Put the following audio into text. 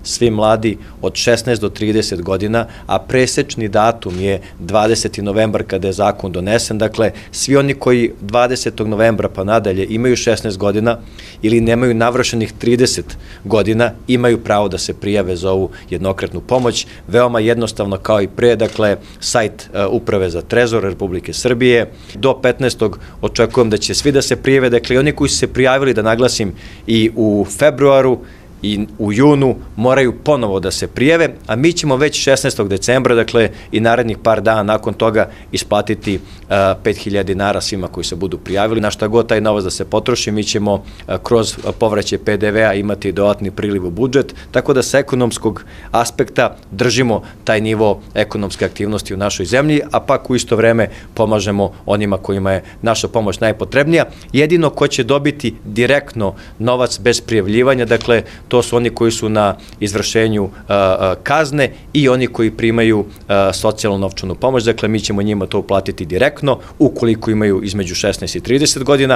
Svi mladi od 16 do 30 godina, a presečni datum je 20. novembar kada je zakon donesen. Dakle, svi oni koji 20. novembra pa nadalje imaju 16 godina ili nemaju navršenih 30 godina, imaju pravo da se prijave za ovu jednokratnu pomoć. Veoma jednostavno kao i pre, dakle, sajt Uprave za trezor Republike Srbije. Do 15. očekujem da će svi da se prijave, dakle, i oni koji su se prijavili, da naglasim, i u februaru i u junu moraju ponovo da se prijave, a mi ćemo već 16. decembra, dakle i narednih par dana nakon toga, isplatiti 5.000 dinara svima koji se budu prijavili. Na šta god taj novac da se potroši, mi ćemo kroz povraćaj PDV-a imati dodatni priliv u budžet, tako da sa ekonomskog aspekta držimo taj nivo ekonomske aktivnosti u našoj zemlji, a pak u isto vreme pomažemo onima kojima je naša pomoć najpotrebnija. Jedino ko će dobiti direktno novac bez prijavljivanja, dakle, to su oni koji su na izvršenju kazne i oni koji primaju socijalnu novčanu pomoć. Dakle, mi ćemo njima to uplatiti direktno, ukoliko imaju između 16 i 30 godina,